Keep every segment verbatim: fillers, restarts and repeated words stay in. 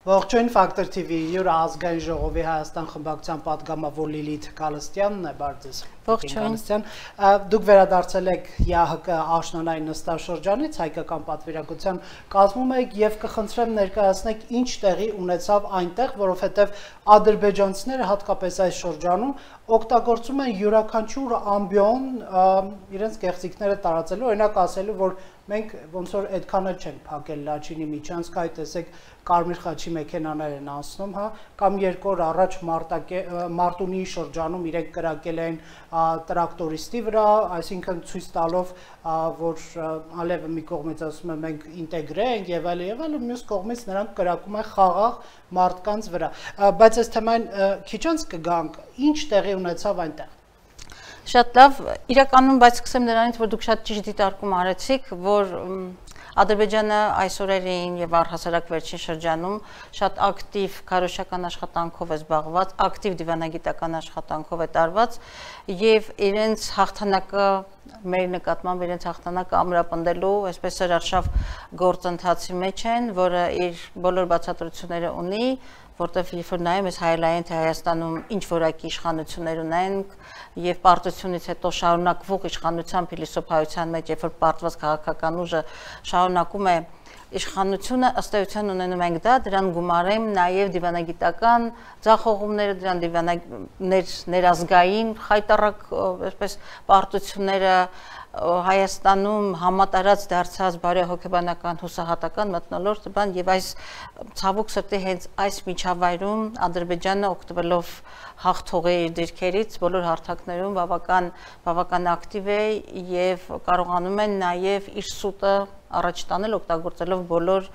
Ողջույն Ֆակտոր T V յուր ազգային ժողովի Հայաստան խմբակցության պատգամավոր Լիլիթ Գալստյանն է, բարդես։ Ողջույն։ Դուք վերադարձել եք ԵԱՀԿ աշնանային նստաշրջանից, հայկական պատվիրակության կազմում եք եւ կխնդրեմ ներկայացնեք ինչ տեղի ունեցավ այնտեղ, որովհետեւ ադրբեջանցիները հատկապես այս շրջանում օգտագործում են յուրաքանչյուր ամբիոն իրենց գեղձիկները տարածելու, օրինակ ասելու, որ մենք ոնց որ այդքան էլ չենք փակել Լաչինի միջանցքը, այ տեսեք Կարմիր խաչի մեքենաներ են անցնում, հա, կամ երկու օր առաջ Մարտունի շրջանում իրենք կրակել են տրակտորիստի վրա, այսինքն ցույց տալով, որ Ալիևը մի կողմից ասում է մենք ինտեգրե ենք եւ այլ եւ այլ, մյուս կողմից նրանք կրակում են խաղաղ մարդկանց վրա, բայց այս թեմային քիչ անց կգանք, ինչ տեղի ունեցավ այնտեղ։ Շատ լավ, իրականում բայց սկսեմ նրանից, որ դուք շատ ճիշտ դիտարկում արեցիք, որ Ադրբեջանը այս օրերին եւ առհասարակ վերջին շրջանում շատ ակտիվ քարոզչական աշխատանքով է զբաղված, ակտիվ դիվանագիտական աշխատանքով է տարված եւ իրենց հաղթանակը մեր նկատմամբ իրենց հաղթանակը ամրապնդելու այսպես սրարշավ գործընթացի մեջ են, որը իր բոլոր բացատրությունները ունի, որտեղ երբ որ նայում ես հայելային թե Հայաստանում ինչ որակի իշխանություններ ունենք եւ պարտությունից հետո շարունակվող իշխանության փիլիսոփայության մեջ, երբ որ պարտված քաղաքական ուժը շարունակում է իշխանությունը, ըստ էության ունենում ենք դա, դրան գումարեմ նաև դիվանագիտական ձախողումները, դրան դիվանագներ ներազգային խայտառակ այսպես պարտությունները Հայաստանում համատարած դարձած բարեհոգեբանական հուսահատական մթնոլորտ բան եւ այս ցավոք սրտի հենց այս միջավայրում Ադրբեջանը օգտվելով հաղթողի դիրքերից բոլոր հարթակներում բավական բավական ակտիվ է եւ կարողանում են նաեւ իր սուտը առաջ տանել օգտագործելով բոլոր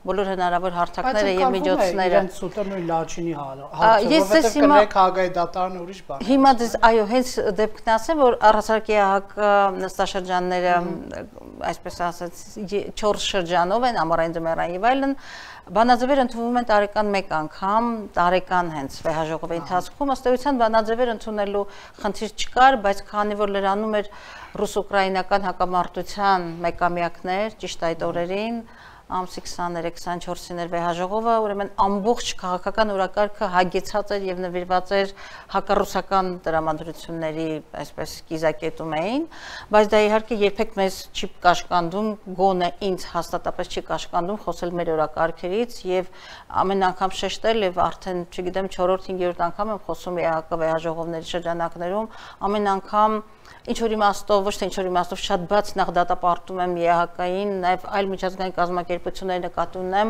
բոլոր հնարավոր հարթակները եւ միջոցները։ Իրենց սուտը նույն Լաչինի հարցը, որովհետեւ կներեք Հագայի դատարանը ուրիշ բան։ Հիմա դες այո, հենց դեպքն ասեմ, որ առհասարակ ԵԱՀԿ նստաշրջանները, այսպես ասած, չորս շրջանով են, ամառային ձմեռային եւ այլն, բանաձևեր ընդունվում են տարեկան մեկ անգամ, տարեկան հենց վեհաժողովի ընթացքում, ըստ էության բանաձևեր ընդունելու խնդիր չկար, բայց քանի որ լրանում էր ռուս-ուկրաինական հակամարտության մեկամյակներ, ճիշտ այդ օրերին ամսի քսաներեք քսանչորսին էր վեհաժողովը, ուրեմն ամբողջ քաղաքական օրակարգը հագեցած էր եւ նվիրված էր հակառուսական տրամադրությունների, այսպես կիզակետում էին, բայց դա իհարկե երբեք մեզ չի կաշկանդում, գոնե ինձ հաստատապես չի կաշկանդում խոսել մեր օրակարգերից եւ ամեն անգամ շեշտել եւ արդեն, չգիտեմ, չորրորդ-հինգերորդ անգամ եմ խոսում ԵԱՀԿ վեհաժողովների շրջանակներում, ամեն անգամ ինչ որ իմաստով, ոչ թե ինչ որ իմաստով շատ բաց նախ դատապարտում եմ ԵԱՀԿ-ին, նաև այլ միջազգային կազմակերպությունների նկատի ունեմ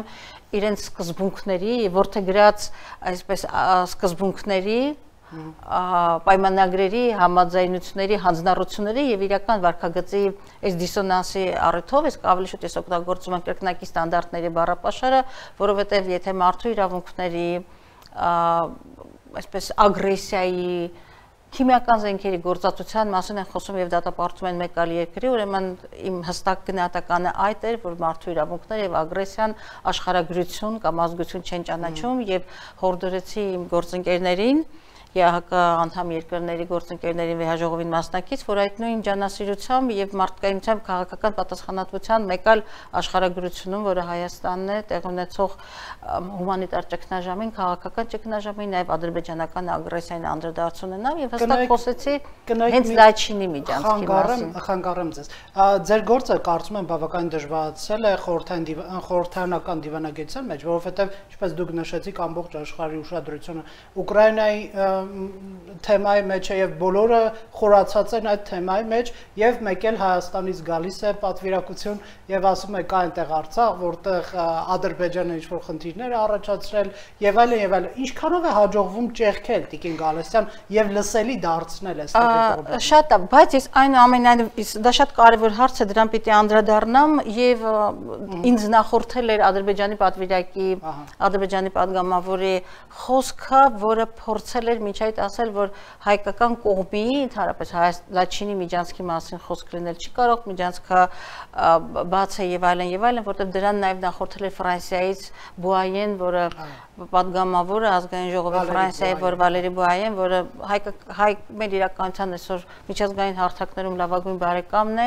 իրենց սկզբունքների, որդեգրած այսպես սկզբունքների, պայմանագրերի, համաձայնությունների, հանձնառությունների եւ իրական վարքագծի այս դիսոնանսի առիթով իսկ ավելի շուտ ես օգտագործում եմ կրկնակի ստանդարտների բառապաշարը, որովհետեւ եթե մարդու իրավունքների այսպես ագրեսիայի քիմիական զենքերի գործածության մասին են խոսում եւ դատապարտում են մեկ այլ երկրի, ուրեմն իմ հստակ գնահատականը այդ էր, որ մարդու իրավունքները եւ ագրեսիան աշխարհագրություն կամ ազգություն չեն ճանաչում եւ հորդորեցի իմ գործընկերներին ԵԱՀԿ անդամ երկրների գործընկերների վեհաժողովին մասնակից, որ այդ նույն ջանասիրությամբ եւ մարդկայնությամբ քաղաքական պատասխանատվության մեկ այլ աշխարհագրությունում, որը Հայաստանն է, տեղ ունեցող հումանիտար ճգնաժամին, քաղաքական ճգնաժամին, նաեւ ադրբեջանական ագրեսիային անդրադարձ ունենամ եւ հստակ խոսեցի հենց Լաչինի միջանցքի մասին։ Խանգարեմ ձեզ։ Ձեր գործը կարծում եմ բավական դժվարացել է խորհրդարանական դիվանագիտության մեջ, որովհետեւ ինչպես դուք նշեցիք, ամբողջ աշխարհի ուշադրությունը Ուկրաինայի թեմայի մեջ է եւ բոլորը խորացած են այդ թեմայի մեջ եւ մեկ էլ Հայաստանից գալիս է պատվիրակություն եւ ասում է կա այնտեղ Արցախ, որտեղ Ադրբեջանը ինչ որ խնդիրներ է առաջացրել եւ այլն եւ այլն։ Ինչքանով է հաջողվում ճեղքել Տիկին Գալստյան եւ լսելի դարձնել այս տեխնիկը։ Շատ է, բայց ես այնուամենայնիվ դա շատ կարեւոր հարց է, դրան պիտի անդրադառնամ եւ ինձ նախորդել էր Ադրբեջանի պատվիրակի, Ադրբեջանի падգամավորի խոսքը, որը փորձել էր միջ այդ ասել, որ հայկական կողմի, ընդհանրապես Լաչինի միջանցքի մասին խոսք լինել չի կարող, միջանցքը բաց է եւ այլն եւ այլն, որտեղ դրան նաեւ նախորդել է Ֆրանսիայից Բուայեն, որը պատգամավորը ազգային ժողովի Ֆրանսիայի, որ Վալերի Բուայեն, որը հայ մեր իրականության այսօր միջազգային հարթակներում լավագույն բարեկամն է,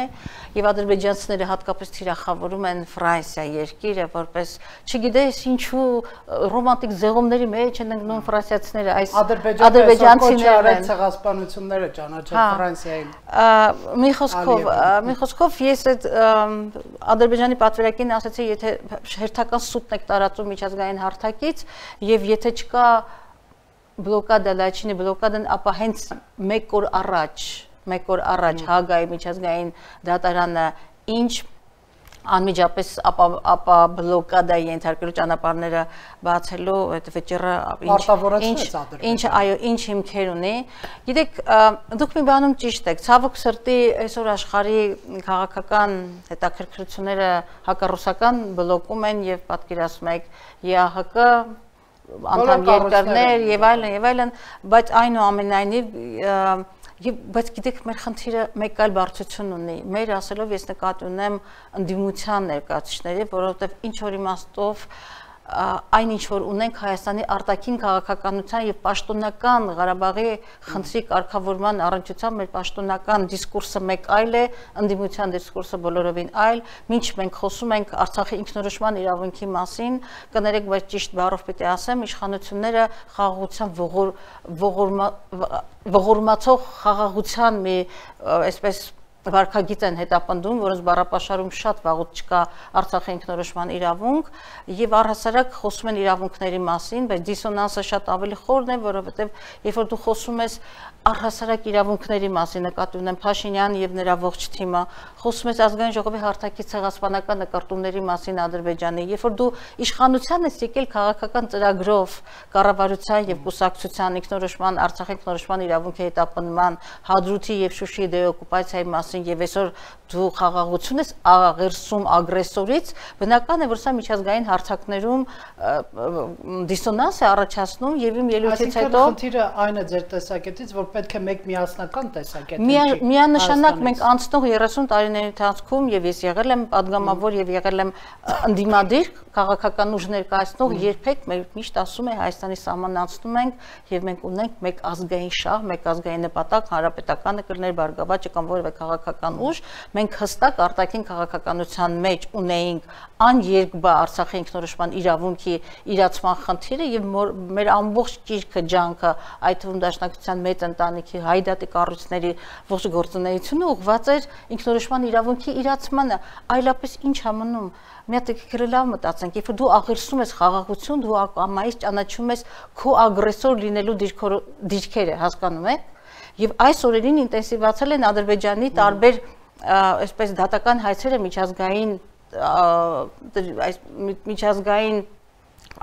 եւ ադրբեջանցիները հատկապես թիրախավորում են Ֆրանսիա երկիրը, որպես չգիտես ինչու ռոմանտիկ զեղումների մեջ են ընկնում ֆրանսիացիները, այս ադրբեջանցիները ցեղասպանությունները ճանաչել Ֆրանսիային։ Մի խոսքով, մի խոսքով ես այդ Ադրբեջանի պատվիրակին ասացի, եթե հերթական սուտն եք տարածում միջազգային հարթակից եւ եթե չկա բլոկադա Լաչինի բլոկադան, ապա հենց մեկ օր առաջ, մեկ օր առաջ Հագայի միջազգային դատարանը ինչ անմիջապես ապա ապա բլոկադայի ենթարկելու ճանապարհները բացելու այդ վճիռը ինչ ինչ այո ինչ հիմքեր ունի։ Գիտեք, դուք մի բանում ճիշտ եք, ցավոք սրտի այսօր աշխարհի քաղաքական հետաքրքրությունները հակառուսական բլոկում են եւ պատկերացնում եք ԵԱՀԿ անդամ երկրներ եւ այլն եւ այլն, բայց այնուամենայնիվ Եվ բայց գիտեք մեր խնդիրը մեկ այլ բարձրություն ունի։ Մեր ասելով ես նկատի ունեմ ընդդիմության ներկայացուցիչների, որովհետև ինչ որ իմաստով այն ինչ որ ունենք Հայաստանի արտաքին քաղաքականության եւ պաշտոնական Ղարաբաղի խնդրի կարգավորման առնչությամբ մեր պաշտոնական դիսկուրսը մեկ այլ է, ընդդիմության դիսկուրսը բոլորովին այլ, ինչ մենք խոսում ենք Արցախի ինքնորոշման իրավունքի մասին, կներեք, բայց ճիշտ բառով պետք է ասեմ, իշխանությունները խաղաղության ողորմացող խաղաղության մի այսպես վարկագիծ են հետապնդում, որոնց բառապաշարում շատ վաղուց չկա Արցախի ինքնորոշման իրավունք եւ առհասարակ խոսում են իրավունքների մասին, բայց դիսոնանսը շատ ավելի խորն է, որովհետեւ երբ որ դու խոսում ես առհասարակ իրավունքների մասին, նկատի ունեմ Փաշինյանն եւ նրա ողջ թիմը, խոսում ես ազգային ժողովի հարթակի ցեղասպանական նկարտումների մասին Ադրբեջանի, երբ որ դու իշխանության ես եկել քաղաքական ծրագրով կառավարության եւ կուսակցության ինքնորոշման Արցախի ինքնորոշման իրավունքի հետապնդման Հադրութի եւ Շուշիի դեօկուպացիայի մասին եւ այսօր դու խաղաղություն ես աղերսում ագրեսորից, բնական է որ սա միջազգային հարթակներում դիսոնանս է առաջացնում եւ իմ ելույթից հետո խնդիրը այն է ձեր տեսակետից, որ պետք է մեկ միասնական տեսակետ լինի։ Միանշանակ մենք անցնող երեսուն տարիների ընթացքում եւ ես եղել եմ падգամավոր եւ եղել եմ ընդդիմադիր քաղաքական ուժ ներկայացնող, երբեք մեր միշտ ասում է Հայաստանի սահմանն անցնում ենք եւ մենք ունենք մեկ ազգային շահ, մեկ ազգային նպատակ, հանրապետականը կլներ Բարգավաճը կամ որևէ քաղաքական ուժ, մենք հստակ արտաքին քաղաքականության մեջ ունեինք աներկբա Արցախի ինքնորոշման իրավունքի իրացման խնդիրը եւ մեր ամբողջ ճիրքը ջանքը, այդ թվում դաշնակցության մեծ ընտանիքի հայդատի կառույցների ողջ գործունեությունը ուղղված էր ինքնորոշման իրավունքի իրացմանը, այլապես ինչ համնում։ Մի հատ լավ մտածենք, երբ դու աղերսում ես խաղաղություն, դու ամայից ճանաչում ես քո ագրեսոր լինելու դիրքերը, հասկանում եք։ Եվ այս օրերին ինտենսիվացել են Ադրբեջանի տարբեր այսպես դատական հայցերը միջազգային այս միջազգային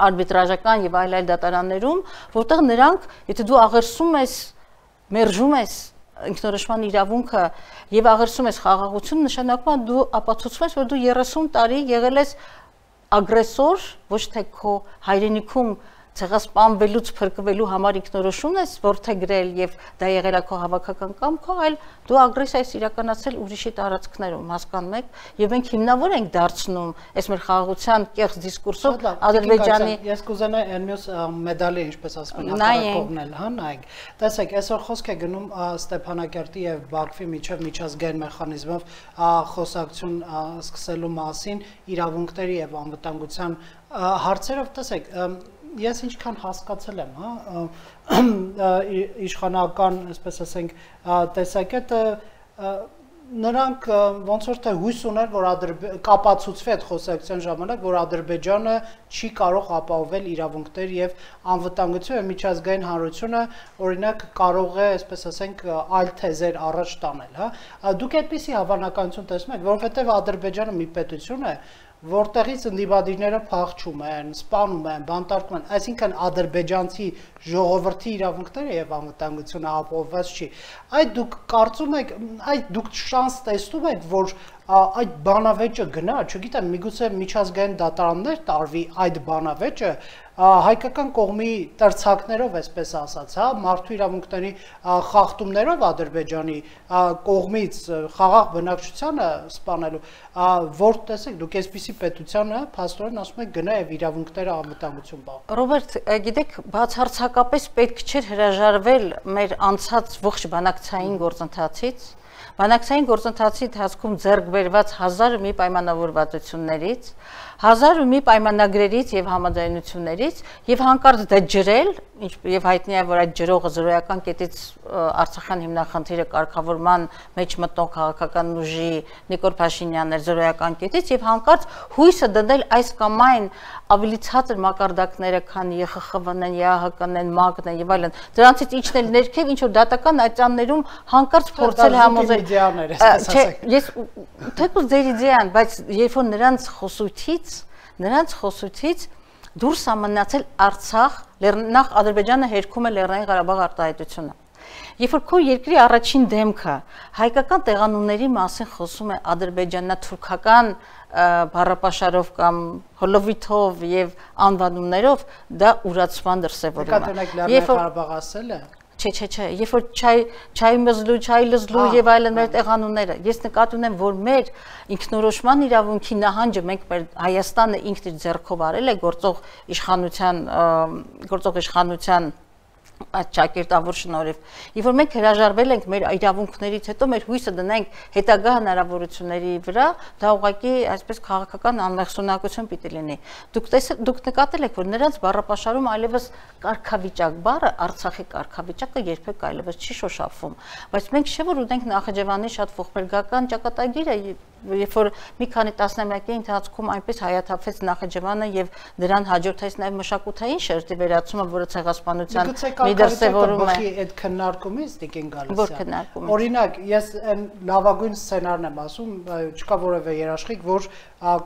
արբիտրաժական եւ այլ այլ դատարաններում, որտեղ նրանք, եթե դու աղերսում ես, մերժում ես ինքնորոշման իրավունքը եւ աղերսում ես խաղաղություն, նշանակում է դու ապացուցում ես, որ դու երեսուն տարի եղել ես ագրեսոր, ոչ թե քո հայրենիքում ցեղասպանվելուց փրկվելու համար ինքնորոշում ես որդեգրել եւ դա եղել է քո հավաքական կամքով, այլ դու ագրեսիա ես իրականացրել ուրիշի տարածքներում, հասկանում եք, եւ մենք հիմնավոր ենք դարձնում այս մեր խաղաղության կեղծ դիսկուրսով Ադրբեջանի։ Ես կուզենայի այն մյուս մեդալի, ինչպես ասում են, հակառակողնել, հա, նայեք։ Տեսեք, այսօր խոսք է գնում Ստեփանակերտի եւ Բաքվի միջև միջազգային մեխանիզմով խոսակցություն սկսելու մասին իրավունքների եւ անվտանգության հարցերով, տեսեք, ես ինչքան հասկացել եմ, հա, իշխանական, այսպես ասենք, տեսակետը նրանք ոնց որ թե հույս ուներ, որ կապացուցվի այդ խոսակցության ժամանակ, որ Ադրբեջանը չի կարող ապահովել իրավունքներ եւ անվտանգություն եւ միջազգային հանրությունը օրինակ կարող է, այսպես ասենք, այլ թեզեր առաջ տանել, հա։ Դուք այդպիսի հավանականություն տեսնում եք, որովհետեւ Ադրբեջանը մի պետություն է, որտեղից ընդդիմադիրները փախչում են, սպանում են, բանտարկում են, այսինքն ադրբեջանցի ժողովրդի իրավունքները եւ անվտանգությունը ապահովված չի։ Այդ դուք կարծում եք, այդ դուք շանս տեսնում եք, որ այդ բանավեճը գնա, չգիտեմ, միգուցե միջազգային դատարաններ տարվի այդ բանավեճը հայկական կողմի տրցակներով, այսպես ասած, հա, մարդու իրավունքների խախտումներով Ադրբեջանի կողմից խաղաղ բնակչությանը սպանելու, որ տեսեք, դուք այսպիսի պետությանը փաստորեն ասում եք գնա եւ իրավունքները անվտանգություն բաղ։ Ռոբերտ, գիտեք, բացարձակապես պետք չէր հրաժարվել մեր անցած ողջ բանակցային գործընթացից, բանակցային գործընթացի ընթացքում ձեռք բերված հազար ու մի պայմանավորվածություններից, հազար ու մի պայմանագրերից եւ համաձայնություններից եւ հանկարծ դա ջրել, եւ հայտնի է, որ այդ ջրողը զրոյական կետից Արցախյան հիմնախնդիրը կարգավորման մեջ մտնող քաղաքական ուժի Նիկոլ Փաշինյանն էր զրոյական կետից եւ հանկարծ հույսը դնել այս կամ այն ավելի ցածր մակարդակները, քան ԵԽԽՎ-ն են, ԵԱՀԿ-ն են, ՄԱԿ-ն են եւ այլն, դրանցից իջնել ներքև ինչ որ դատական այցաններում հանկարծ փորձել համոզել։ Չէ, ես թեկուզ ձեր իդեան, բայց երբ որ նրանց խոսույթից, նրանց խոսույթից դուրս է մնացել Արցախ, նախ Ադրբեջանը հերքում է Լեռնային Ղարաբաղ արտահայտությունը։ Երբ որ քո երկրի առաջին դեմքը հայկական տեղանունների մասին խոսում է ադրբեջանա-թուրքական բառապաշարով կամ հոլովիթով եւ անվանումներով, դա ուրացման դրսեւորում է։ Նկատի ունեք Լեռնային Ղարաբաղ ասել է։ Չէ, չէ, չէ, երբ որ չայ չայ մզլու, չայ լզլու եւ այլն մեր տեղանունները, ես նկատի ունեմ, որ մեր ինքնորոշման իրավունքի նահանջը մենք մեր Հայաստանը ինքն իր ձեռքով արել է գործող իշխանության գործող իշխանության այդ ճակերտավոր շնորհիվ։ Եվ որ մենք հրաժարվել ենք մեր իրավունքներից հետո մեր հույսը դնենք հետագա հնարավորությունների վրա, դա ուղղակի այսպես քաղաքական անմեղսունակություն պիտի լինի։ Դուք տեսեք, դուք նկատել եք, որ նրանց բառապաշարում այլևս կարգավիճակ բառը, Արցախի կարգավիճակը երբեք այլևս չի շոշափվում, բայց մենք չէ որ ունենք Նախիջևանի շատ ողբերգական ճակատագիրը, երբ որ մի քանի տասնամյակի ընթացքում այնպես հայաթափվեց Նախիջևանը եւ դրան հաջորդեց նաեւ մշակութային շերտի վերացումը, որը ցեղասպանության մի դրսևորում է։ Այդ քննարկումից դիքեն գալիս է։ Որ քննարկում։ Օրինակ, ես այն լավագույն սցենարն եմ ասում, չկա որևէ երաշխիք, որ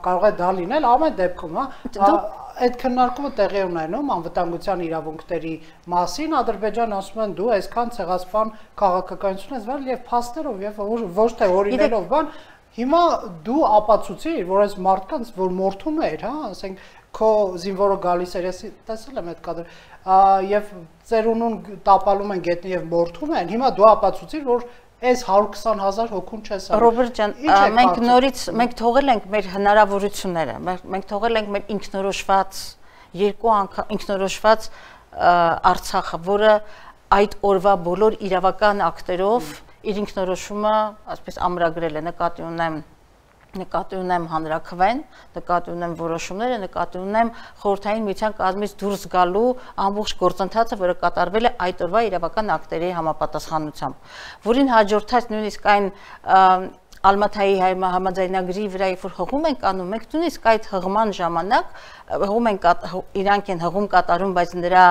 կարող է դա լինել ամեն դեպքում, հա։ Այդ քննարկումը տեղի ունենում անվտանգության իրավունքների մասին, Ադրբեջանը ասում են դու այսքան ցեղասպան քաղաքականություն ես վարել եւ փաստերով եւ ոչ թե օրինելով բան։ Հիմա դու ապացուցիր, որ այս մարդկանց, որ մորթում էր, հա, ասենք քո զինվորը գալիս էր, ես տեսել եմ այդ կադրը, եւ ծերունուն տապալում են գետնի եւ մորթում են, հիմա դու ապացուցիր, որ այս հարյուր քսան հազար հոգուն չես արել։ Ռոբերտ ջան, մենք նորից մենք թողել ենք մեր հնարավորությունները, մենք թողել ենք մեր ինքնորոշված երկու անգամ ինքնորոշված Արցախը, որը այդ օրվա բոլոր իրավական ակտերով իր ինքնորոշումը, այսպես ամրագրել է, նկատի ունեմ նկատի ունեմ հանրաքվեն, նկատի ունեմ որոշումները, նկատի ունեմ խորհրդային միության կազմից դուրս գալու ամբողջ գործընթացը, որը կատարվել է այդ օրվա իրավական ակտերի համապատասխանությամբ, որին հաջորդած նույնիսկ այն Ալմաթայի համաձայնագրի վրա երբ որ հղում ենք անում, մենք նույնիսկ այդ հղման ժամանակ հղում ենք իրանք են հղում կատարում, բայց նրա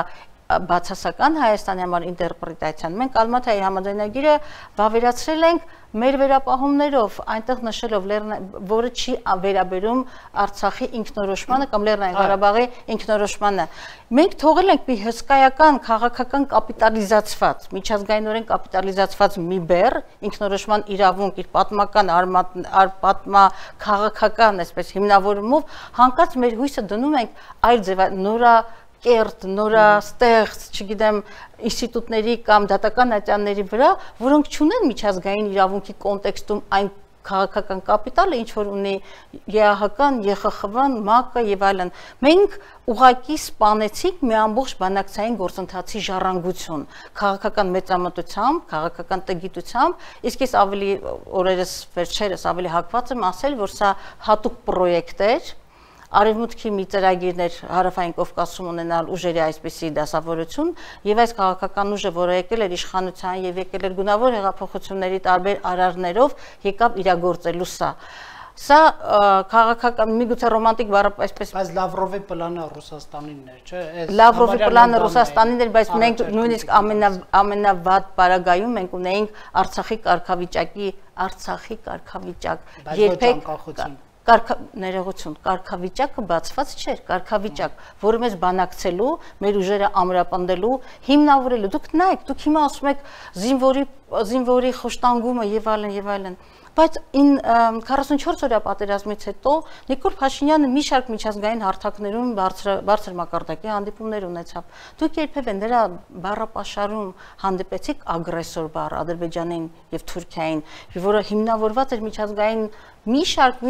բացասական Հայաստանի համար ինտերպրետացիան մենք Ալմաթայի համաձայնագիրը վավերացրել ենք մեր վերապահումներով, այնտեղ նշելով, որը չի վերաբերում Արցախի ինքնորոշմանը կամ Լեռնային Ղարաբաղի ինքնորոշմանը։ Մենք թողել ենք մի հսկայական քաղաքական կապիտալիզացված, միջազգայինորեն կապիտալիզացված մի բեռ, ինքնորոշման իրավունք իր պատմական պատմա քաղաքական, այսպես հիմնավորումով, հանկարծ մեր հույսը դնում ենք այլ ձև նորա կերտ, նորաստեղծ, չգիտեմ, ինստիտուտների կամ դատական ատյանների վրա, որոնք չունեն միջազգային իրավունքի կոնտեքստում այն քաղաքական կապիտալը, ինչ որ ունի ԵԱՀԿ-ն, ԵԽԽՎ-ն, ՄԱԿ-ը եւ այլն։ Մենք ուղղակի սպանեցինք մի ամբողջ բանակցային գործընթացի ժառանգություն, քաղաքական մեծամտությամբ, քաղաքական տգիտությամբ, իսկ ես ավելի օրերս վերջերս ավելի հակված եմ ասել, որ սա հատուկ պրոյեկտ էր, Արևմուտքի մի ծրագիրներ Հարավային Կովկասում ունենալ ուժերի այսպիսի դասավորություն եւ այս քաղաքական ուժը, որը եկել էր իշխանության եւ եկել էր գունավոր հեղափոխությունների տարբեր արարներով, եկավ իրագործելու սա։ Սա քաղաքական միգուցե ռոմանտիկ բառը այսպես բայց Լավրովի պլանը Ռուսաստանինն էր, չէ՞։ Լավրովի պլանը Ռուսաստանին էր, բայց մենք նույնիսկ ամենա ամենավատ պարագայում մենք ունեինք Արցախի կարգավիճակի Արցախի կարգավիճակ։ Երբեք Ներողություն, կարգավիճակը բացված չէր, կարգավիճակ, որը մեզ բանակցելու, մեր ուժերը ամրապնդելու, հիմնավորելու։ Դուք նայեք, դուք հիմա ասում եք զինվորի զինվորի խոշտանգումը եւ այլն եւ այլն։ Բայց քառասունչորս օրյա պատերազմից հետո Նիկոլ Փաշինյանը մի շարք միջազգային հարթակներում բարձր մակարդակի հանդիպումներ ունեցավ։ Դուք երբևէ նրա բառապաշարում հանդիպեցիք ագրեսոր բառ Ադրբեջանին եւ Թուրքիային, որը հիմնավորված էր միջազգային մի շարք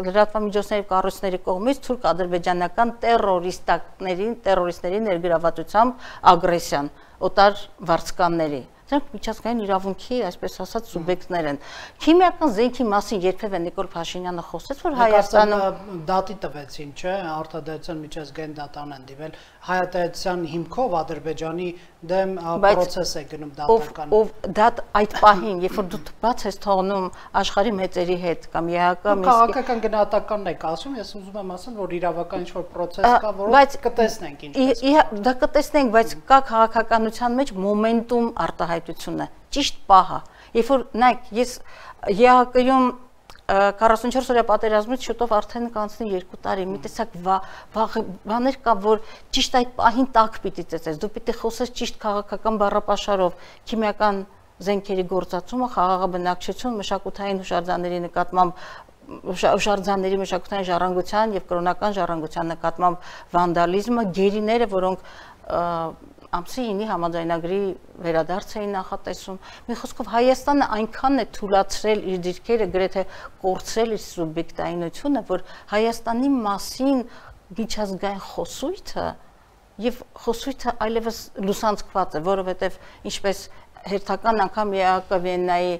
լրատվամիջոցների կառույցների կողմից թուրք-ադրբեջանական տերորիստների տերորիստների ներգրավվածությամբ ագրեսիան, օտար վարձկանների։ Դրանք միջազգային իրավունքի, այսպես ասած, սուբյեկտներ են։ Քիմիական զենքի մասին երբևէ Նիկոլ Փաշինյանը խոսեց, որ Հայաստանում դատի տվեցին, չէ՞, արտադրության միջազգային դատան են դիվել հայատայության հիմքով Ադրբեջանի դեմ process է գնում դատական։ Ով դատ այդ պահին, երբ որ դու բաց ես թողնում աշխարհի մեծերի հետ կամ ԵԱՀԿ քաղաքական գնահատականն եք ասում, ես ուզում եմ ասել, որ իրավական ինչ-որ process կա, որը կտեսնենք ինչպես։ Դա կտեսնենք, բայց կա քաղաքականության մեջ մոմենտում արտահայտությունը, ճիշտ պահը։ Երբ որ նայեք, ես ԵԱՀԿ-ում քառասունչորս օրյա պատերազմից շուտով արդեն կանցնի երկու տարի, մի տեսակ բաներ կա, որ ճիշտ այդ պահին տակ պիտի ծեծես, դու պիտի խոսես ճիշտ քաղաքական բառապաշարով, քիմիական զենքերի գործածումը, խաղաղաբնակչություն, մշակութային հուշարձանների նկատմամբ հուշարձանների մշակութային ժառանգության եւ կրոնական ժառանգության նկատմամբ վանդալիզմը, գերիները, որոնք ամսի ինի համաձայնագրի վերադարձ էին նախատեսում։ Մի խոսքով Հայաստանը այնքան է թույլատրել իր դիրքերը, գրեթե կորցրել իր սուբյեկտայնությունը, որ Հայաստանի մասին միջազգային խոսույթը եւ խոսույթը այլևս լուսանցքված է, որովհետեւ ինչպես հերթական անգամ ԵԱՀԿ Վիեննայի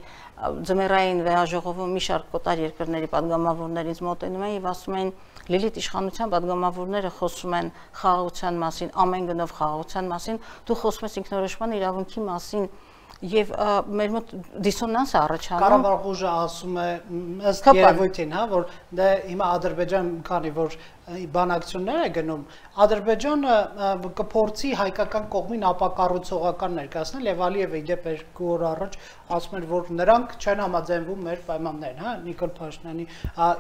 ձմեռային վեհաժողովում մի շարք կոտար երկրների պատգամավորներից մոտենում են եւ ասում են Լիլիթ իշխանության պատգամավորները խոսում են խաղաղության մասին, ամեն գնով խաղաղության մասին, դու խոսում ես ինքնորոշման իրավունքի մասին եւ մեր մոտ դիսոնանս է առաջանում։ Կառավարող ուժը ասում է ըստ երևույթին, հա, որ դե հիմա Ադրբեջան, քանի որ բանակցություններ է գնում, Ադրբեջանը կփորձի հայկական կողմին ապակառուցողական ներկայացնել եւ Ալիևը իդեպ երկու օր առաջ ասում էր, որ նրանք չեն համաձայնվում մեր պայմաններին, հա, Նիկոլ Փաշինյանի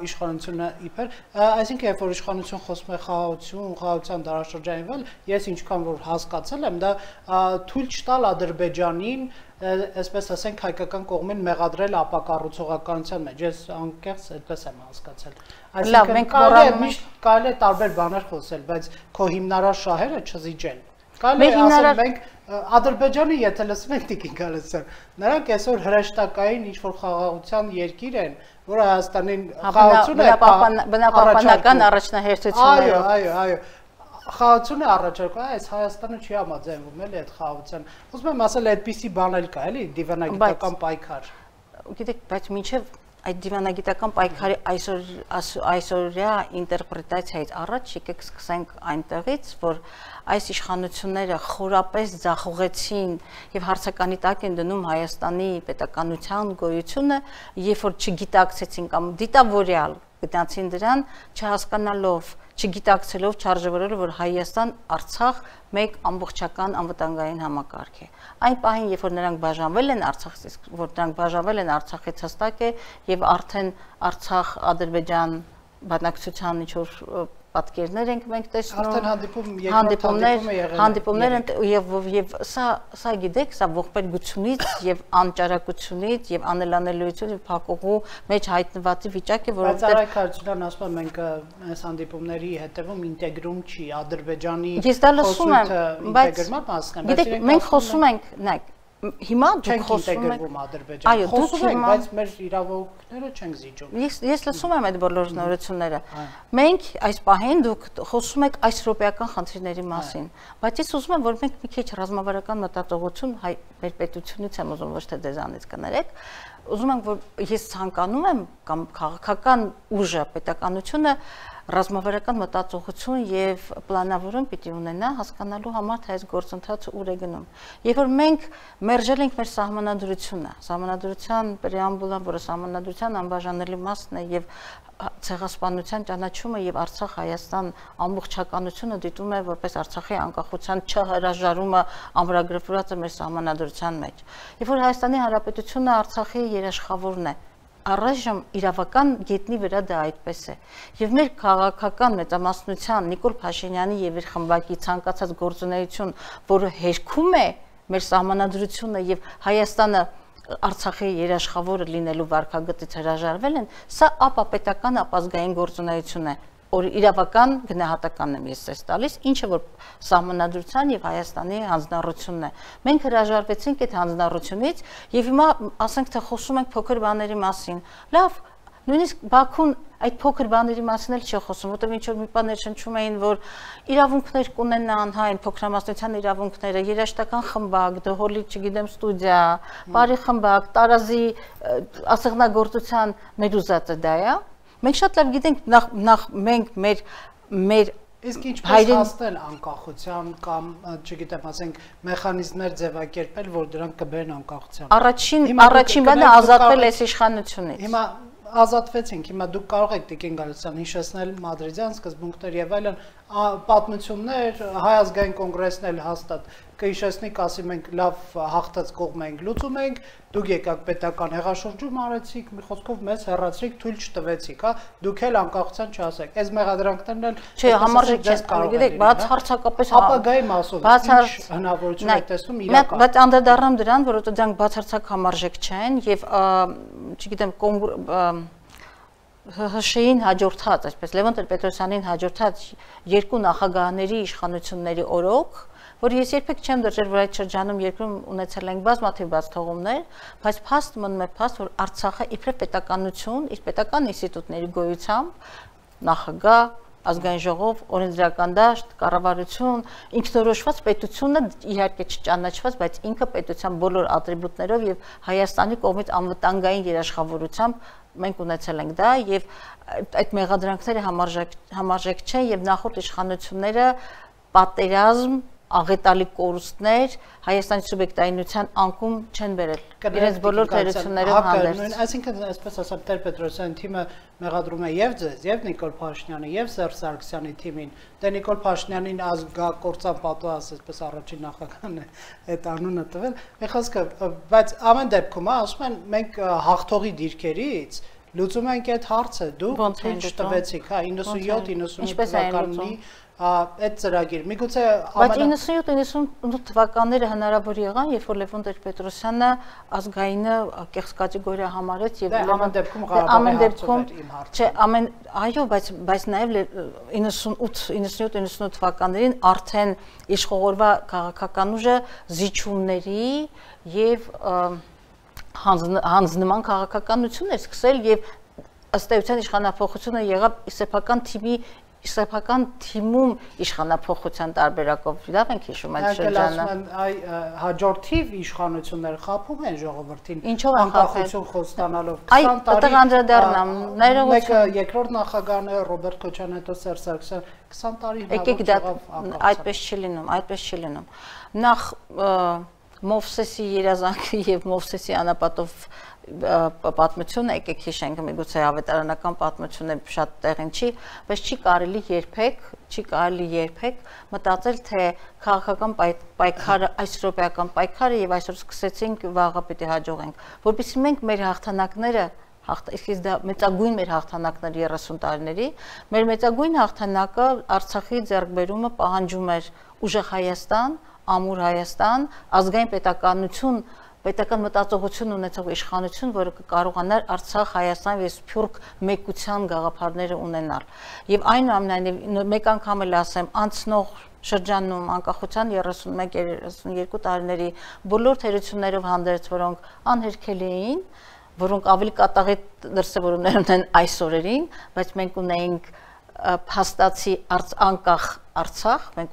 իշխանությունը իբր, այսինքն երբ որ իշխանություն խոսում է խաղաղություն, խաղաղության դարաշրջանի վրա, ես ինչքան որ հասկացել եմ, դա թույլ չտալ Ադրբեջանին այսպես ասենք հայկական կողմին մեղադրել ապակառուցողականության մեջ, ես անկեղծ այդպես եմ հասկացել։ Այսինքն կարելի է միշտ կարելի է տարբեր բաներ խոսել, բայց քո հիմնարար շահերը չզիջել։ Կարելի է ասել մենք Ադրբեջանը, եթե լսում եք Տիկին Գալստյան, նրանք այսօր հրեշտակային ինչ-որ խաղաղության երկիր են, որը Հայաստանին խաղաղություն է բնապահպանական առաջնահերթություններով։ Այո, այո, այո։ Խաղաղությունը առաջարկում, այս Հայաստանը չի համաձայնվում էլի այդ խաղաղության։ Ուզում եմ ասել, այդպիսի բան էլ կա, էլի, դիվանագիտական պայքար։ Գիտեք, բայց մինչև այդ դիվանագիտական պայքարի այսօր այսօրյա ինտերպրետացիայից առաջ եկեք սկսենք այնտեղից, որ այս իշխանությունները խորապես ձախողեցին եւ հարցականի տակ են դնում Հայաստանի պետականության գոյությունը, երբ որ չգիտակցեցին կամ դիտավորյալ գտնացին դրան, չհասկանալով, չգիտակցելով, չարժևորելով, որ Հայաստան, Արցախ մեկ ամբողջական անվտանգային համակարգ է։ Այն պահին, երբ որ նրանք բաժանվել են Արցախից, որ նրանք բաժանվել են Արցախից հստակ է եւ արդեն Արցախ, Ադրբեջան բանակցության ինչ-որ պատկերներ ենք մենք տեսնում, արդեն հանդիպում երկրորդ հանդիպումներ եւ եւ սա սա գիտեք, սա ողբերգությունից եւ անճարակությունից եւ անելանելիությունից եւ փակուղու մեջ հայտնված վիճակ է, որովհետեւ բայց Արայք Հարությունյանն ասում է մենք այս հանդիպումների հետևում ինտեգրում չի Ադրբեջանի խոսույթը ինտեգրման մասն է, բայց մենք խոսում ենք, նայեք, հիմա դուք խոսում եք Ադրբեջան, խոսում ենք, բայց մեր իրավունքները չենք զիջում։ Ես ես լսում եմ այդ բոլոր նորությունները։ Մենք այս պահին դուք խոսում եք այս ռոպեական խնդիրների մասին, բայց ես ուզում եմ, որ մենք մի քիչ ռազմավարական մտածողություն հայ մեր պետությունից եմ ուզում, ոչ թե դեզանից կներեք, ուզում եմ, որ ես ցանկանում եմ կամ քաղաքական ուժը, պետականությունը ռազմավարական մտածողություն եւ պլանավորում պիտի ունենա հասկանալու համար թե այս գործընթացը ուր է գնում։ Երբ որ մենք մերժել ենք մեր սահմանադրությունը, սահմանադրության պրեամբուլը, որը սահմանադրության անբաժանելի մասն է եւ ցեղասպանության ճանաչումը եւ Արցախ-Հայաստան ամբողջականությունը դիտում է որպես Արցախի անկախության չհրաժարումը ամրագրված է մեր սահմանադրության մեջ։ Երբ որ Հայաստանի Հանրապետությունը Արցախի երաշխավորն է, առայժմ իրավական գետնի վրա դա այդպես է եւ մեր քաղաքական մեծամասնության Նիկոլ Փաշինյանի եւ իր խմբակի ցանկացած գործունեություն, որը հերքում է մեր սահմանադրությունը եւ Հայաստանը Արցախի երաշխավորը լինելու վարկագծից հրաժարվել են, սա ապապետական ապազգային գործունեություն է, որ իրավական գնահատականն եմ ես ցես տալիս, ինչը որ սահմանադրության եւ Հայաստանի հանձնառությունն է։ Մենք հրաժարվեցինք այդ հանձնառությունից եւ հիմա ասենք թե խոսում ենք փոքր բաների մասին։ Լավ, նույնիսկ Բաքուն այդ փոքր բաների մասին էլ չի խոսում, որտեղ ինչ որ մի բաներ շնչում էին, որ իրավունքներ կունենան, հա, այն փոքրամասնության իրավունքները, երաժշտական խմբակ, դհոլի, չգիտեմ, ստուդիա, բարի խմբակ, տարազի ասեղնագործության մեր ուզածը դա է։ Մենք շատ լավ գիտենք նախ նախ մենք մեր մեր Իսկ ինչպես հասնել անկախության կամ, չգիտեմ, ասենք, մեխանիզմներ ձևակերպել, որ դրանք կբերեն անկախության։ Առաջին առաջին բանը ազատվել այս իշխանությունից։ Հիմա ազատվեցինք, հիմա դուք կարող եք Տիկին Գալստյան հիշեցնել մադրիդյան սկզբունքներ եւ այլն պատմություններ, Հայ ազգային կոնգրեսն էլ հաստատ կհիշեցնի, կասի մենք լավ հաղթած կողմ ենք լուծում ենք, դուք եկաք պետական հեղաշրջում արեցիք, մի խոսքով մեզ հեռացրիք, թույլ չտվեցիք, հա, դուք էլ անկախության չասեք։ Այս մեղադրանքներն էլ չէ, համարժեք չես կարող, գիտեք, բաց հարցակապես ապագայի մասով ինչ հնարավորություն եք տեսնում իրական։ Բայց անդրադառնամ դրան, որովհետեւ դրանք բացարձակ համարժեք չեն եւ չգիտեմ ՀՀՇ-ին հաջորդած, այսպես Լևոն Տեր-Պետրոսյանին հաջորդած երկու նախագահների իշխանությունների օրոք, որ ես երբեք չեմ դրել, որ այդ շրջանում երկրում ունեցել ենք բազմաթիվ բաց թողումներ, բայց փաստ մնում է փաստ, որ Արցախը իբրև պետականություն, իր պետական ինստիտուտների գոյությամբ նախագահ, ազգային ժողով, օրենսդրական դաշտ, կառավարություն, ինքնորոշված պետությունը իհարկե չճանաչված, բայց ինքը պետության բոլոր ատրիբուտներով եւ Հայաստանի կողմից անվտանգային երաշխավորությամբ մենք ունեցել ենք դա եւ այդ մեղադրանքները համարժեք համարժեք չեն եւ նախորդ իշխանությունները պատերազմ աղետալի կորուստներ Հայաստանի սուբյեկտայինության անկում չեն բերել իրենց բոլոր թերություններով հանդերձ։ Այսինքն, այսպես ասած, Տեր-Պետրոսյանի թիմը մեղադրում է եւ ձեզ, եւ Նիկոլ Փաշինյանը, եւ Սերժ Սարգսյանի թիմին։ Դե Նիկոլ Փաշինյանին ազգակործան պատուհաս, այսպես առաջին նախագահն է այդ անունը տվել։ Մի խոսքը, բայց ամեն դեպքում, ասում են, մենք հաղթողի դիրքերից լուծում ենք այդ հարցը, դուք թույլ չտվեցիք, հա, իննսունյոթ իննսունութ թվականին այդ ծրագիր։ Միգուցե Բայց իննսունյոթ իննսունութ թվականները հնարավոր եղան, երբ որ Լևոն Տեր-Պետրոսյանը ազգայինը կեղծ կատեգորիա համարեց եւ ամեն դեպքում Ղարաբաղի հարցով էր իմ հարցը։ Չէ, ամեն այո, բայց բայց նաեւ իննսունութ իննսունյոթ թվականներին արդեն իշխողորվա քաղաքական ուժը զիջումների եւ հանձնման քաղաքականություն էր սկսել եւ ըստ էության իշխանափոխությունը եղավ սեփական թիմի Իսրայելական թիմում իշխանափոխության տարբերակով լավ ենք հիշում այդ շրջանը։ Այ հաջորդիվ իշխանությունները խափում են ժողովրդին ինչով անկախություն խոստանալով քսան տարի։ Այ անդրադառնամ, մեկը երկրորդ նախագահն է Ռոբերտ Քոչարյանը, հետո Սերժ Սարգսյանը քսան տարի հնարավոր եղավ այդպես չի լինում, այդպես չի լինում։ Նախ Մովսեսի երազանքը եւ Մովսեսի անապատով պատմությունը եկեք հիշենք, միգուցե ավետարանական պատմությունը շատ տեղին չի, բայց չի կարելի երբեք, չի կարելի երբեք մտածել, թե քաղաքական պայքարը, այս ռոպեական պայքարը եւ այսօր սկսեցինք վաղը պիտի հաջողենք, որովհետեւ մենք մեր հաղթանակները իսկ դա մեծագույն մեր հաղթանակներ երեսուն տարիների, մեր մեծագույն հաղթանակը Արցախի ձեռքբերումը պահանջում էր ուժեղ Հայաստան, ամուր Հայաստան, ազգային պետականություն, պետական մտածողություն ունեցող իշխանություն, որը կկարողանար Արցախ, Հայաստան եւ Սփյուռք մեկության գաղափարները ունենալ։ Եվ այնուամենայնիվ մեկ անգամ էլ ասեմ, անցնող շրջանում անկախության երեսունմեկ երեսունյոթ տարիների բոլոր թերություններով հանդերձ, որոնք անհերքելի էին, որոնք ավելի կատաղի դրսևորումներ ունեն այս օրերին, բայց մենք ունեինք փաստացի անկախ Արցախ, մենք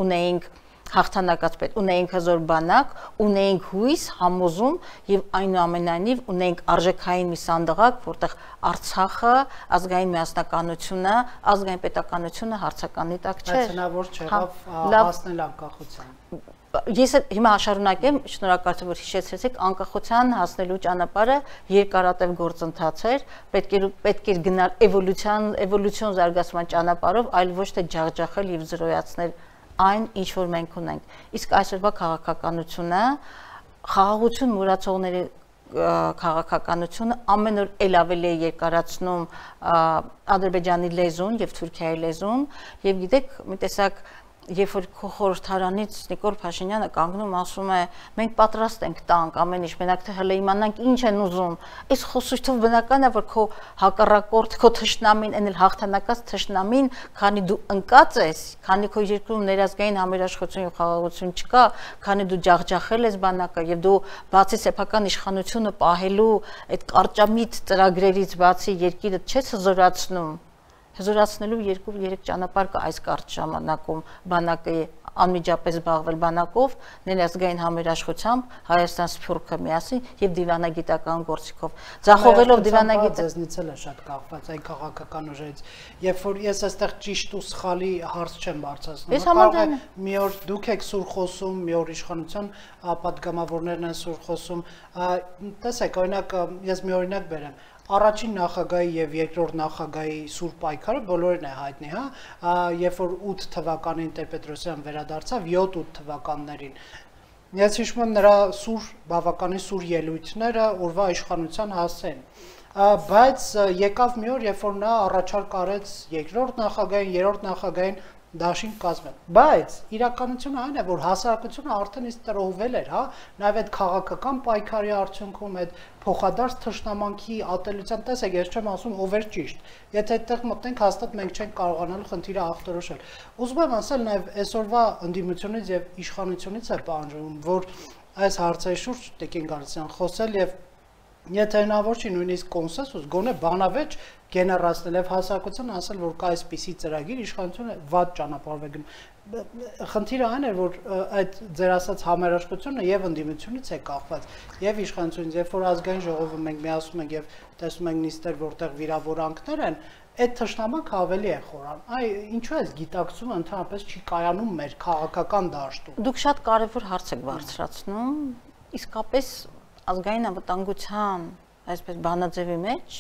ունեինք հաղթանակած պետ, ունեինք հզոր բանակ, ունեինք հույս, համոզում եւ այնուամենայնիվ ունեինք արժեքային մի սանդղակ, որտեղ Արցախը, ազգային միասնականությունը, ազգային պետականությունը հարցականի տակ չէր։ Բայց հնարավոր չեղավ հասնել անկախության։ Ես հիմա շարունակեմ, շնորհակալ եմ, որ հիշեցրեցիք, անկախության հասնելու ճանապարհը երկարատև գործընթաց էր, պետք էր պետք էր գնալ էվոլյուցիան, էվոլյուցիոն զարգացման ճանապարհով, այլ ոչ թե ջախջախել եւ զրոյացնել այն, ինչ որ մենք ունենք։ Իսկ այսօրվա քաղաքականությունը, խաղաղություն մուրացողների քաղաքականությունը ամեն օր ել ավելի է երկարացնում Ադրբեջանի լեզուն եւ Թուրքիայի լեզուն եւ գիտեք, մի տեսակ երբ որ քո խորհրդարանից Նիկոլ Փաշինյանը կանգնում ասում է մենք պատրաստ ենք տանք ամեն ինչ, մենակ թե հələ իմանանք ինչ են ուզում, այս խոսույթով բնական է որ քո հակառակորդ, քո թշնամին, այն էլ հաղթանակած թշնամին, քանի դու ընկած ես, քանի քո երկրում ներազգային համերաշխություն եւ խաղաղություն չկա, քանի դու ջախջախել ես բանակը եւ դու բացի սեփական իշխանությունը պահելու այդ կարճամիտ ծրագրերից բացի երկիրը չես հզորացնում, հզորացնելու երկու երեք ճանապարհ կա այս կարճ ժամանակում բանակը անմիջապես զբաղվել բանակով, ներազգային համերաշխությամբ, Հայաստան Սփյուռքը միասին եւ դիվանագիտական գործիքով։ Ձախողելով դիվանագիտը ձեզնից էլ է շատ կախված այն քաղաքական ուժերից։ Երբ որ ես այստեղ ճիշտ ու սխալի հարց չեմ բարձրացնում, կարող է մի օր դուք եք սուր խոսում, մի օր իշխանության պատգամավորներն են սուր խոսում։ Տեսեք, օրինակ ես մի օրինակ բերեմ։ Առաջին նախագահի եւ երկրորդ նախագահի սուր պայքարը բոլորին է հայտնի, հա, երբ որ ութ թվականին Տեր-Պետրոսյան վերադարձավ յոթ-ութ թվականներին։ Ես հիշում եմ նրա սուր, բավականին սուր ելույթները օրվա իշխանության հասցեն։ Բայց եկավ մի օր, երբ որ նա առաջարկ արեց երկրորդ նախագահին, երրորդ նախագահին դաշին կազմել, բայց իրականությունը այն է, որ հասարակությունը արդեն իսկ տրոհվել էր, հա, նաև այդ քաղաքական պայքարի արդյունքում այդ փոխադարձ թշնամանքի ատելության, տեսեք, ես չեմ ասում ով էր ճիշտ, եթե այդտեղ մտնենք հաստատ մենք չենք կարողանալու խնդիրը ախտորոշել։ Ուզում եմ ասել նաև այսօրվա ընդդիմությունից եւ իշխանությունից է պահանջվում, որ այս հարցերի շուրջ Տիկին Գալստյան խոսել եւ եթե հնարավոր չի նույնիսկ կոնսենսուս, գոնե բանավեճ գեներացնել եւ հասարակությանը ասել, որ կա այսպիսի ծրագիր, իշխանությունը վատ ճանապարհով է գնում։ Խնդիրը այն է, որ այդ ձեր ասած համերաշխությունը եւ ընդդիմությունից է կախված, եւ իշխանությունից, երբ որ ազգային ժողովում մենք միասում ենք եւ տեսնում ենք նիստեր, որտեղ վիրավորանքներ են, այդ թշնամանքը ավելի է խորան։ Այ ինչու է գիտակցումը ընդհանրապես չի կայանում մեր քաղաքական դաշտում։ Դուք շատ կարևոր հարց եք բարձրացնում, իսկապես ազգային անվտանգության, այսպես բանաձևի մեջ,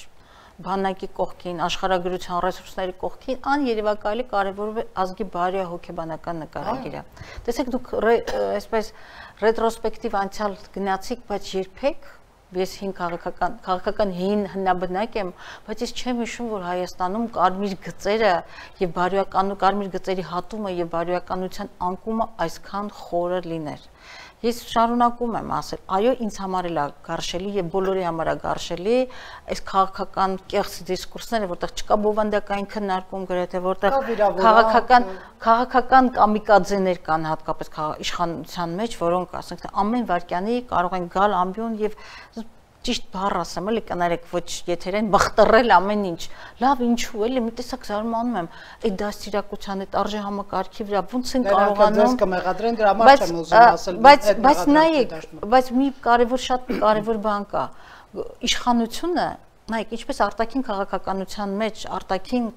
բանակի կողքին, աշխարհագրության ռեսուրսների կողքին աներևակայելի կարևորում է ազգի բարոյահոգեբանական նկարագիրը։ Տեսեք, դուք այսպես ռետրոսպեկտիվ անցյալ գնացիք, բայց երբեք ես հին քաղաքական քաղաքական հին հնաբնակ եմ, բայց ես չեմ հիշում, որ Հայաստանում կարմիր գծերը եւ բարոյական կարմիր գծերի հատումը եւ բարոյականության անկումը այսքան խորը լիներ։ Ես շարունակում եմ ասել, այո, ինձ համար էլ է գարշելի եւ բոլորի համար է գարշելի այս քաղաքական կեղծ դիսկուրսները, որտեղ չկա բովանդակային քննարկում գրեթե, որտեղ քաղաքական քաղաքական կամիկաձեներ կան հատկապես իշխանության մեջ, որոնք ասենք ամեն վարքյանի կարող են գալ ամբիոն եւ ճիշտ բառ ասեմ, էլի կներեք, ոչ եթերային բախտռել ամեն ինչ։ Լավ, ինչու էլի, մի տեսակ զարմանում եմ, այդ դաստիարակության, այդ արժե համակարգի վրա ոնց են կարողանում։ Դες կմեղադրեն, դրա համար չեմ ուզում ասել։ Բայց բայց նայեք, բայց մի կարևոր շատ կարևոր բան կա։ Իշխանությունը, նայեք, ինչպես արտաքին քաղաքականության մեջ, արտաքին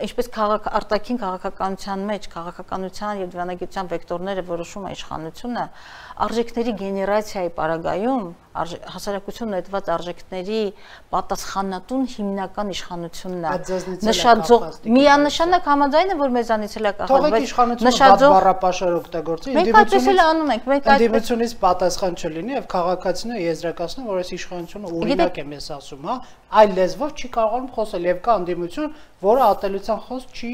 ինչպես քաղաք արտաքին քաղաքականության մեջ քաղաքականության եւ դիվանագիտության վեկտորները որոշում է իշխանությունը, արժեքների գեներացիայի պարագայում հասարակությունն այդված արժեքների պատասխանատուն հիմնական իշխանությունն է։ Նշաձող միանշանակ համաձայն է, որ մեզանից էլ է կախված, բայց նշաձող բառապաշար օգտագործի, մենք այդպես էլ անում ենք, մենք ընդդիմությունից պատասխան չլինի եւ քաղաքացիները եզրակացնեն, որ այս իշխանությունը օրինակ եմ ես ասում, հա, այլ լեզվով չի կարողանում խոսել եւ կա ընդդիմություն, որը ատելության խոսք չի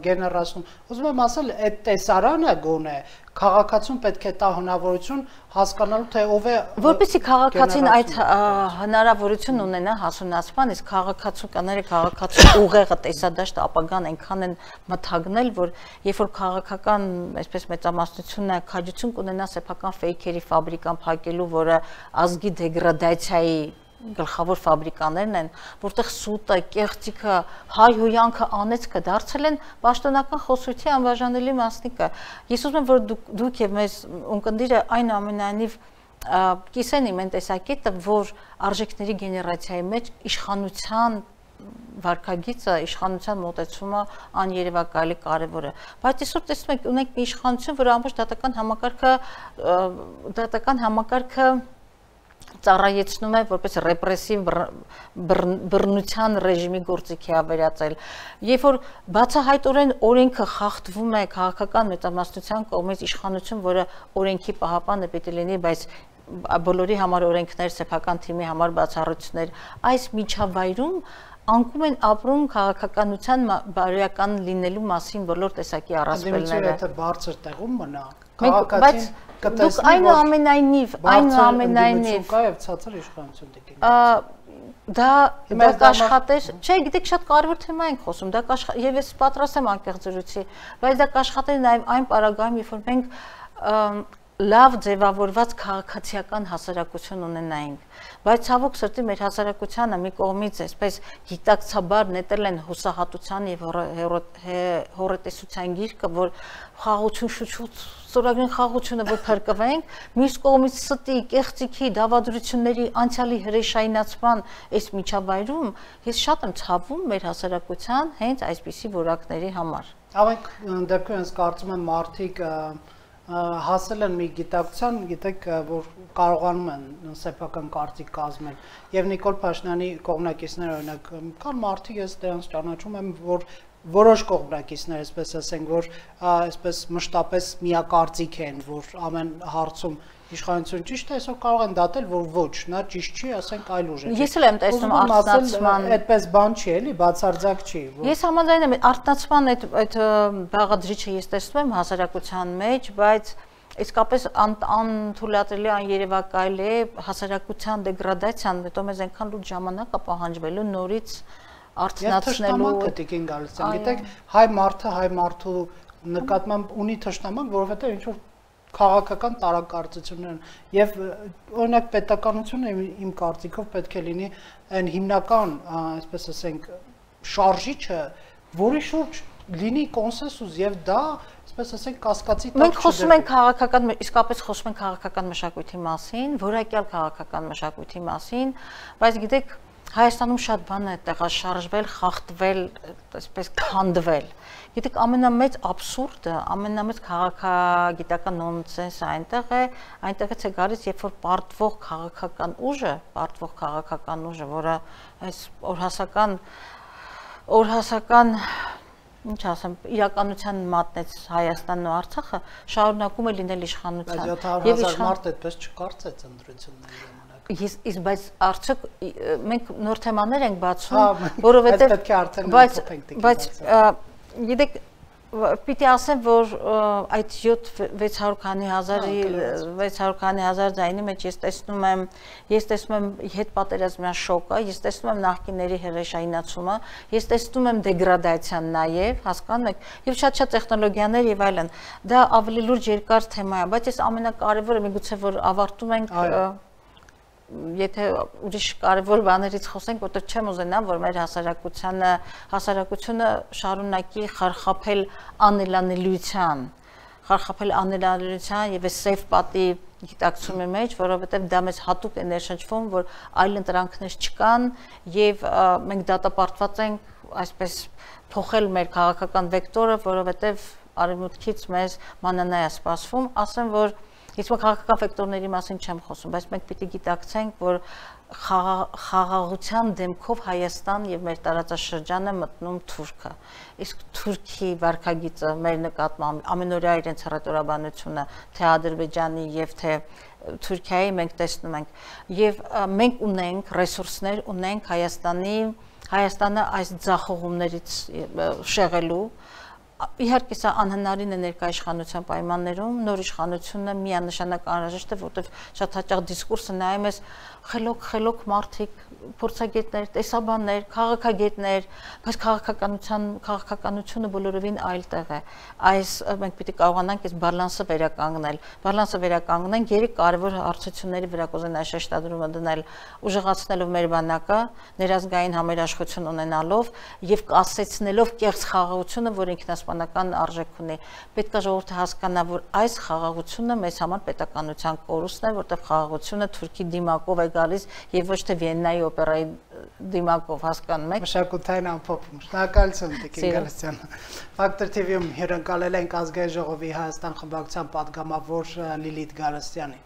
գեներացնում։ Ուզում եմ ասել, այդ տեսարանը գոնե քաղաքացուն պետք է տա հնարավորություն հասկանալու թե ով է որպեսզի քաղաքացին այդ հնարավորություն ունենա հասունացման, իսկ քաղաքացուները քաղաքացու ուղեղը տեսադաշտը ապագան այնքան են մթագնել, որ երբ որ քաղաքական այսպես մեծամասնությունը քաջություն կունենա սեփական ֆեյքերի ֆաբրիկան փակելու, որը ազգի դեգրադացիայի գլխավոր ֆաբրիկաներն են, որտեղ սուտը, կեղծիքը, հայհոյանքը, անեծքը դարձել են պաշտոնական խոսույթի անբաժանելի մասնիկը։ Ես ուզում եմ, որ դուք, դուք եւ մեզ ունկնդիրը այնուամենայնիվ կիսեն իմ այն տեսակետը, որ արժեքների գեներացիայի մեջ իշխանության վարքագիծը, իշխանության մոտեցումը աներևակայելի կարևոր է։ Բայց այսօր տեսնում եք, ունենք մի իշխանություն, որը ամբողջ դատական համակարգը դատական համակարգը ծառայեցնում է որպես ռեպրեսիվ բռնության ռեժիմի գործիքի ավերածել։ Երբ որ բացահայտորեն օրենքը խախտվում է քաղաքական մեծամասնության կողմից, իշխանություն, որը օրենքի պահապանը պիտի լինի, բայց բոլորի համար օրենքներ, սեփական թիմի համար բացառություններ, այս միջավայրում անկում են ապրում քաղաքականության բարոյական լինելու մասին բոլոր տեսակի առասպելները։ Եթե բարձր տեղում մնա, քաղաքացին կտեսնի, որ այնուամենայնիվ, այնուամենայնիվ կա եւ ցածր իշխանություն դեպի։ Դա դա կաշխատեր, չէ, գիտեք, շատ կարևոր թեմա ենք խոսում, դա եւ ես պատրաստ եմ անկեղծ զրույցի, բայց դա կաշխատեր նաեւ այն պարագայում, երբ որ մենք լավ ձևավորված քաղաքացիական հասարակություն ունենայինք, բայց ցավոք սրտի մեր հասարակությանը մի կողմից այսպես գիտակցաբար նետել են հուսահատության եւ հոռետեսության գիրկը, որ խաղաղություն շուտ-շուտ ստորագրեն խաղաղությունը, որ փրկվենք, մյուս կողմից ստի, կեղծիքի, դավադրությունների, անցյալի հրեշայնացման այս միջավայրում ես շատ եմ ցավում մեր հասարակության հենց այսպիսի որակների համար։ Ավենք դեպքում ես կարծում եմ մարդիկ հասել են մի գիտակցության, գիտեք, որ կարողանում են սեփական կարծիք կազմել եւ Նիկոլ Փաշինյանի կողմնակիցները օրինակ կան մարդիկ, ես դրանց ճանաչում եմ, որ որոշ կողմնակիցներ, այսպես ասենք, որ այսպես մշտապես միակարծիք են, որ ամեն հարցում իշխանություն ճիշտ է, այսօր կարող են դատել, որ ոչ, նա ճիշտ չի, ասենք այլ ուժ է։ Ես էլ եմ տեսնում արտնացման, այդպես բան չի, էլի, բացարձակ չի։ Ես համաձայն եմ, արտնացման այդ այդ բաղադրիչը ես տեսնում եմ հասարակության մեջ, բայց իսկապես անթույլատրելի աներևակայել է հասարակության դեգրադացիան, հետո մեզ այնքան լուրջ ժամանակ է պահանջվելու նորից արտնացնելու։ Գիտեք, գիտեք, հայ մարդը հայ մարդու նկատմամբ ունի թշնամանք, որովհետև ինչ որ քաղաքական տարակարծություններ են եւ օրինակ պետականությունը իմ կարծիքով պետք է լինի այն հիմնական, այսպես ասենք, շարժիչը, որի շուրջ լինի կոնսենսուս եւ դա, այսպես ասենք, կասկածի տակ չդրվի։ Մենք խոսում ենք քաղաքական, իսկապես խոսում ենք քաղաքական մշակույթի մասին, որակյալ քաղաքական մշակույթի մասին, բայց գիտեք, Հայաստանում շատ բան է տեղաշարժվել, խախտվել, այսպես քանդվել։ Գիտեք, ամենամեծ աբսուրդը, ամենամեծ քաղաքագիտական նոնսենսը այնտեղ է, այնտեղից է գալիս, երբ որ պարտվող քաղաքական ուժը, պարտվող քաղաքական ուժը, որը այս օրհասական օրհասական ինչ ասեմ, իրականության մատնեց Հայաստանն ու Արցախը, շարունակում է լինել իշխանության։ Բայց յոթ հազար մարդ այդպես չկարծեց ընտրությունների Ես իսկ բայց արդյոք մենք նոր թեմաներ ենք բացում, որովհետև բայց բայց գիտեք պիտի ասեմ, որ այդ յոթ վեց հարյուր քանի հազարի վեց հարյուր քանի հազար ձայնի մեջ ես տեսնում եմ ես տեսնում եմ հետպատերազմյան շոկը, ես տեսնում եմ նախկինների հրեշայնացումը, ես տեսնում եմ դեգրադացիան նաև, հասկանում եք, եւ շատ-շատ տեխնոլոգիաներ եւ այլն։ Դա ավելի լուրջ երկար թեմա է, բայց ես ամենակարևորը միգուցե որ ավարտում ենք Եթե ուրիշ կարևոր բաներից խոսենք, որտեղ չեմ ուզենա, որ մեր հասարակությանը, հասարակությունը շարունակի խարխափել անելանելիության, խարխափել անելանելիության եւ այս սեյֆ պատի գիտակցումի մեջ, որովհետեւ դա մեզ հատուկ է ներշնչվում, որ այլ ընտրանքներ չկան եւ մենք դատապարտված ենք այսպես փոխել մեր քաղաքական վեկտորը, որովհետեւ արևմուտքից մեզ մանանա է սպասվում, ասեմ, որ Ես քաղաքական ֆակտորների մասին չեմ խոսում, բայց մենք պիտի գիտակցենք, որ խաղաղության դեմքով Հայաստան եւ մեր տարածաշրջանը մտնում Թուրքը։ Իսկ Թուրքի վարքագիծը մեր նկատմամբ ամենօրյա իրենց հռետորաբանությունը թե Ադրբեջանի եւ թե Թուրքիայի մենք տեսնում ենք եւ մենք ունենք ռեսուրսներ, ունենք Հայաստանի Հայաստանը այս ձախողումներից շեղելու Իհարկե սա անհնարին է ներկայ իշխանության պայմաններում, նոր իշխանությունը միանշանակ անհրաժեշտ է, որտեղ շատ հաճախ դիսկուրսը նայում ես խելոք, խելոք մարդիկ, փորձագետներ, տեսաբաններ, քաղաքագետներ, բայց քաղաքականության, քաղաքականությունը բոլորովին այլ տեղ է։ Այս մենք պիտի կարողանանք այս բալանսը վերականգնել, բալանսը վերականգնենք երեք կարևոր հարցությունների վրա կուզենայի շեշտադրումը դնել, ուժեղացնելով մեր բանակը, ներազգային համերաշխություն ունենալով եւ կասեցնելով կեղծ խաղաղությունը, որ ինքնասպանական արժեք ունի։ Պետք է ժողովուրդը հասկանա, որ այս խաղաղությունը մեզ համար պետականության կորուստն է, որտեղ խաղաղությունը Թուրքի դիմակով է գալիս եւ ոչ թե Վիեննայի օպերայի դիմակով, հասկանում եք։ Մշակութային ամփոփում։ Շնորհակալություն Տիկին Գալստյան։ Ֆակտոր թի վի-ում հյուրընկալել ենք Ազգային ժողովի Հայաստան խմբակցության պատգամավոր Լիլիթ Գալստյանին։